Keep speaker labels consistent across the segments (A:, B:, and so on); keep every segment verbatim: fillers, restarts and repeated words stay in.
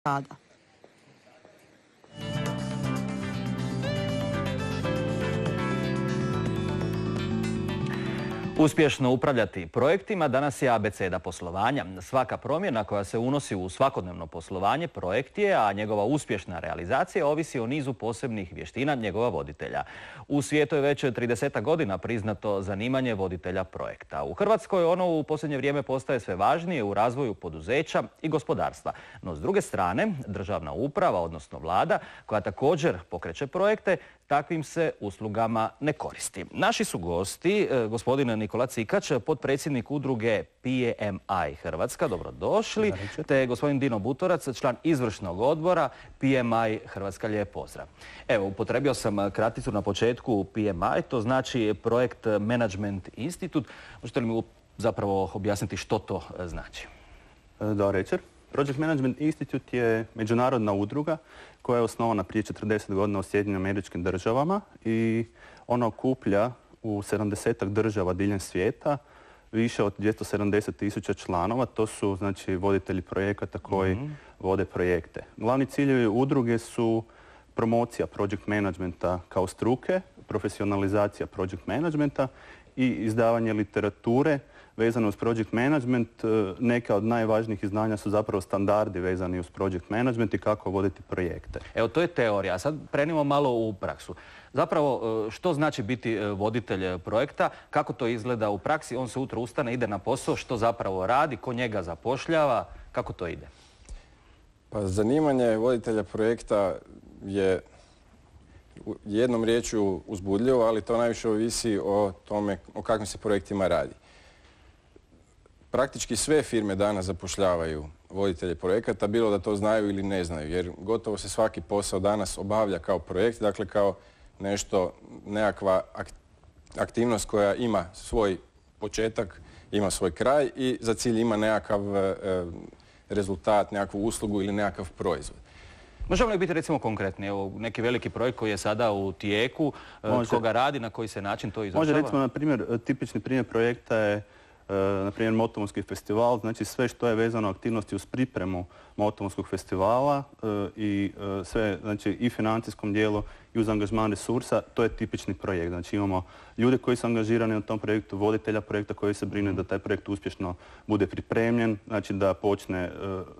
A: rada.
B: Uspješno upravljati projektima danas je abeceda poslovanja. Svaka promjena koja se unosi u svakodnevno poslovanje projekt je, a njegova uspješna realizacija ovisi o nizu posebnih vještina njegova voditelja. U svijetu je već trideset godina priznato zanimanje voditelja projekta. U Hrvatskoj ono u posljednje vrijeme postaje sve važnije u razvoju poduzeća i gospodarstva. No s druge strane, državna uprava, odnosno vlada, koja također pokreće projekte, takvim se uslugama ne koristi. Naši su gosti, gospodin Nikola Cikač, potpredsjednik udruge P M I Hrvatska, dobrodošli, te gospodin Dino Butorac, član izvršnog odbora P M I Hrvatska, lijep pozdrav. Evo, upotrebio sam kraticu na početku P M I, to znači Projekt Management Institute. Možete li mi zapravo objasniti što to znači?
C: Dobar večer. Project Management Institute je međunarodna udruga koja je osnovana prije četrdeset godina u Sjedinjenim Američkim Državama i ona okuplja u sedamdesetak država diljem svijeta više od dvjesto sedamdeset tisuća članova. To su znači voditelji projekata koji mm-hmm. vode projekte. Glavni ciljevi udruge su promocija project managementa kao struke, profesionalizacija project managementa i izdavanje literature vezano uz project management. Neka od najvažnijih izdanja su zapravo standardi vezani uz project management i kako voditi projekte.
B: Evo, to je teorija. A sad prenimo malo u praksu. Zapravo, što znači biti voditelj projekta, kako to izgleda u praksi? On se ujutro ustane, ide na posao, što zapravo radi, ko njega zapošljava, kako to ide?
D: Pa zanimanje voditelja projekta je jednom riječju uzbudljivo, ali to najviše ovisi o tome o kakvim se projektima radi. Praktički sve firme danas zapošljavaju voditelje projekata, bilo da to znaju ili ne znaju, jer gotovo se svaki posao danas obavlja kao projekt, dakle kao nešto, nekakva aktivnost koja ima svoj početak, ima svoj kraj i za cilj ima nekakav e, rezultat, nekakvu uslugu ili nekakav proizvod.
B: Možemo li biti recimo konkretni? Evo, neki veliki projekt koji je sada u tijeku, Može. Koga radi, na koji se način to izvršava?
C: Može, recimo, na primjer, tipični primjer projekta je na primjer Motovunski festival, znači sve što je vezano aktivnosti uz pripremu Motovunskog festivala i sve, znači i financijskom dijelu i uz angažman resursa, to je tipični projekt. Znači imamo ljude koji su angažirani na tom projektu, voditelja projekta koji se brine da taj projekt uspješno bude pripremljen, znači da počne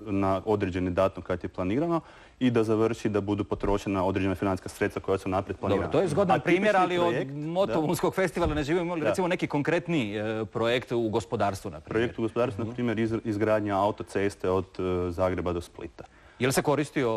C: na određeni datum kad je planirano i da završi da budu potrošena određena financijska sredstva koja su naprijed planirana.
B: Dobro, to je zgodan primjer, ali projekt, od Motovunskog festivala ne živimo li recimo neki konkretni e, projekt u gospodarstvu, na primjer?
C: Projekt u gospodarstvu, na primjer, iz, izgradnja autoceste od e, Zagreba do Splita.
B: Je li se koristio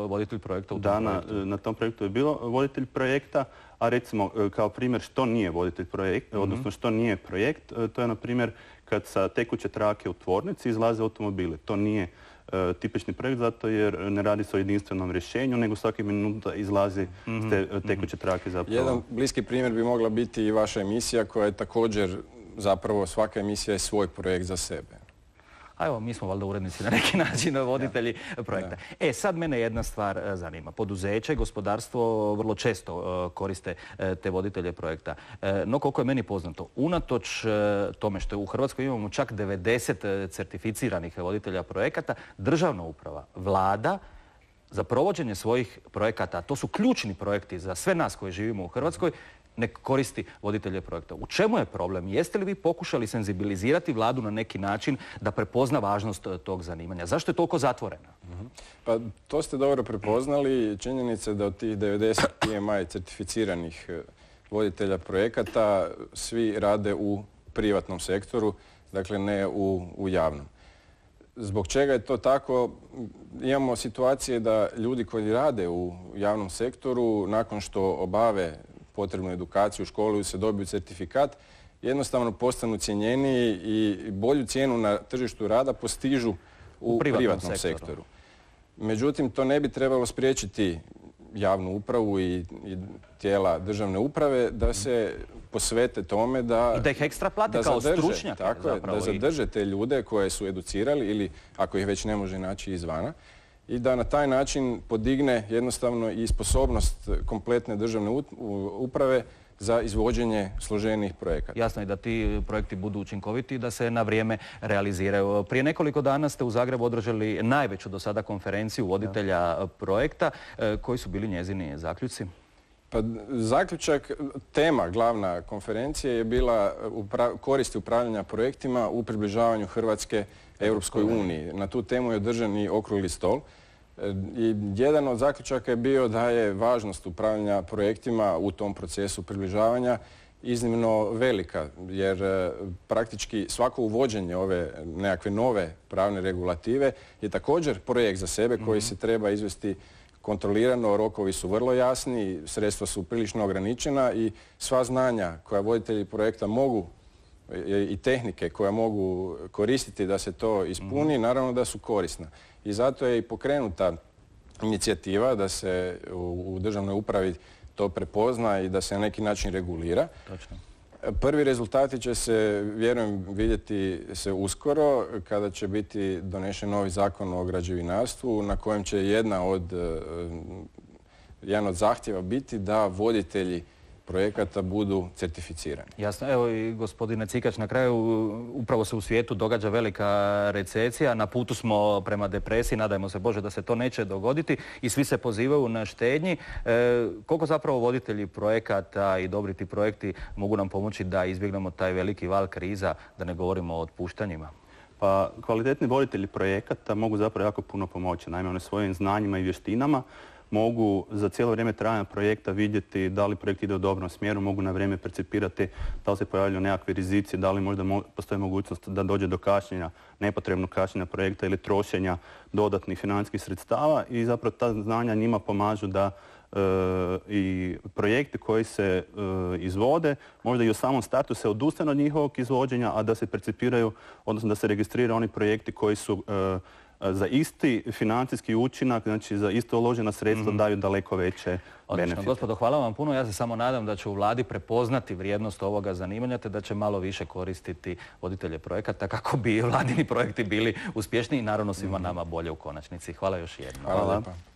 B: voditelj projekta u tom
C: da,
B: projektu?
C: Na, na tom projektu je bilo voditelj projekta, a recimo kao primjer što nije voditelj projekta, mm-hmm. odnosno što nije projekt, to je na primjer kad sa tekuće trake u tvornici izlaze automobili. To nije uh, tipični projekt zato jer ne radi se o jedinstvenom rješenju, nego svaki minuta izlazi mm-hmm. te, tekuće trake zapravo.
D: Jedan bliski primjer bi mogla biti i vaša emisija koja je također, zapravo svaka emisija je svoj projekt za sebe.
B: A evo, mi smo valjda urednici na neki način, voditelji ja. projekta. Ja. E, sad mene jedna stvar zanima. Poduzeće i gospodarstvo vrlo često uh, koriste uh, te voditelje projekta. Uh, no, koliko je meni poznato, unatoč uh, tome što je u Hrvatskoj imamo čak devedeset certificiranih voditelja projekata, državna uprava, vlada, za provođenje svojih projekata, to su ključni projekti za sve nas koji živimo u Hrvatskoj, ne koristi voditelje projekta. U čemu je problem? Jeste li vi pokušali senzibilizirati vladu na neki način da prepozna važnost tog zanimanja? Zašto je toliko zatvorena?
D: Uh-huh. Pa to ste dobro prepoznali. Činjenica je da od tih devedeset P M I certificiranih voditelja projekata svi rade u privatnom sektoru, dakle ne u, u javnom. Zbog čega je to tako? Imamo situacije da ljudi koji rade u javnom sektoru, nakon što obave potrebnu edukaciju u školi, se dobiju certifikat, jednostavno postanu cijenjeniji i bolju cijenu na tržištu rada postižu u, u privatnom, privatnom sektoru. sektoru. Međutim, to ne bi trebalo spriječiti javnu upravu i, i tijela državne uprave da se posvete tome da...
B: I da ih ekstra plate kao stručnjake.
D: Tako je, da zadrže te ljude koje su educirali ili ako ih već ne može naći izvana i da na taj način podigne jednostavno i sposobnost kompletne državne uprave za izvođenje složenijih projekata.
B: Jasno je da ti projekti budu učinkoviti i da se na vrijeme realiziraju. Prije nekoliko dana ste u Zagrebu održali najveću do sada konferenciju voditelja projekta. Koji su bili njezini zaključci?
D: Pa, zaključak, tema glavna konferencije je bila koristi upravljanja projektima u približavanju Hrvatske Europskoj uniji. Na tu temu je održan i okrugli stol. I jedan od zaključaka je bio da je važnost upravljanja projektima u tom procesu približavanja iznimno velika, jer praktički svako uvođenje ove nekakve nove pravne regulative je također projekt za sebe koji se treba izvesti kontrolirano, rokovi su vrlo jasni, sredstva su prilično ograničena i sva znanja koja voditelji projekta mogu i tehnike koje mogu koristiti da se to ispuni, naravno da su korisna. I zato je i pokrenuta inicijativa da se u državnoj upravi to prepozna i da se na neki način regulira.
B: Točno.
D: Prvi rezultati će se, vjerujem, vidjeti se uskoro kada će biti donešen novi zakon o građevinarstvu na kojem će jedna od, jedan od zahtjeva biti da voditelji projekata budu certificirani.
B: Jasno. Evo i gospodine Cikač, na kraju upravo se u svijetu događa velika recesija. Na putu smo prema depresiji, nadajmo se Bože da se to neće dogoditi i svi se pozivaju na štednji. E, koliko zapravo voditelji projekata i dobri ti projekti mogu nam pomoći da izbjegnemo taj veliki val kriza, da ne govorimo o otpuštanjima?
C: Pa kvalitetni voditelji projekata mogu zapravo jako puno pomoći. Naime, one svojim znanjima i vještinama mogu za cijelo vrijeme trajanja projekta vidjeti da li projekt ide u dobrom smjeru, mogu na vrijeme percipirati da li se pojavljaju nekakve rizici, da li možda mo postoji mogućnost da dođe do kašnjenja, nepotrebnog kašnjenja projekta ili trošenja dodatnih financijskih sredstava i zapravo ta znanja njima pomažu da e, i projekti koji se e, izvode, možda i u samom startu se odustane od njihovog izvođenja, a da se percipiraju, odnosno da se registriraju oni projekti koji su e, za isti financijski učinak, znači za isto uložena sredstva daju daleko veće benefite.
B: Gospodo, hvala vam puno. Ja se samo nadam da će u vladi prepoznati vrijednost ovoga zanimanja te da će malo više koristiti voditelje projekata kako bi vladini projekti bili uspješniji i naravno svima nama bolje u konačnici. Hvala još jednom.
D: Hvala lijepa.